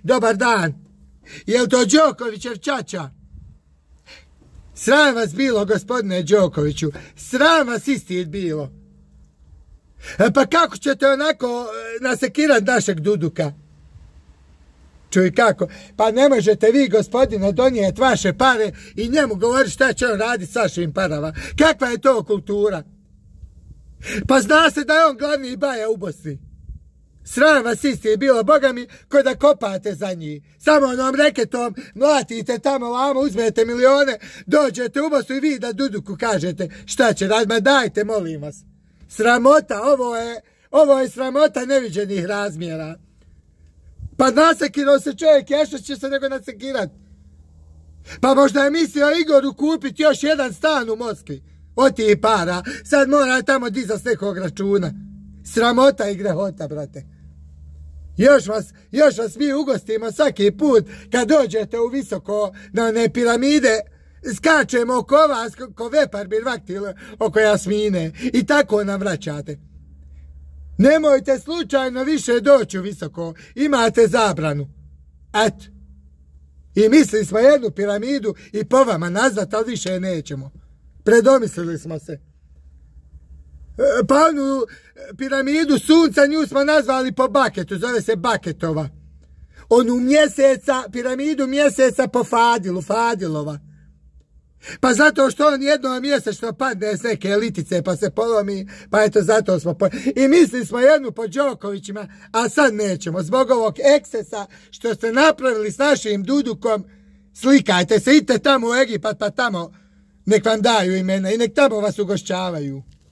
Dobar dan. Je li to Đokovićev ćaća? Sram vas bilo, gospodine Đokoviću. Sram vas istid bilo. Pa kako ćete onako nasekirat našeg Duduka? Čuj kako, pa ne možete vi, gospodine, donijeti vaše pare i njemu govoriti šta će on raditi s vašim parama. Kakva je to kultura? Pa zna se da je on glavni baja u Bosni. Sram vas isti je bilo, boga mi, ko da kopate za njih. Samo onom reketom mlatite tamo vamo, uzmete milione, dođete u Bosnu i vi da Duduku kažete šta će raditi. Ma dajte, molim vas. Sramota, ovo je sramota neviđenih razmjera. Pa nasekirao se čovjek, što će se nego nasekirat. Pa možda je mislio Igoru kupiti još jedan stan u Moskvi. Od tih para, sad mora tamo dizat s nekog računa. Sramota i grehota, brate. Još vas mi ugostimo svaki put kad dođete u visoko na one piramide, skačemo oko vas ko vepar birvaktil oko Jasmine i tako nam vraćate. Nemojte slučajno više doći u visoko, imate zabranu. Eto. I mislili smo jednu piramidu i po vama nazvat, ali više nećemo. Predomislili smo se. Pa onu piramidu sunca, nju smo nazvali po Baketu, zove se Baketova. Onu mjeseca, piramidu mjeseca po Fadilova. Pa zato što on jednom mjesečno padne s neke litice pa se polomi, pa eto zato smo i mislili smo jednu po Đokovićima, a sad nećemo, zbog ovog ekscesa što ste napravili s našim Dudukom. Slikajte se, idite tamo u Egipat pa tamo nek vam daju imena i nek tamo vas ugošćavaju.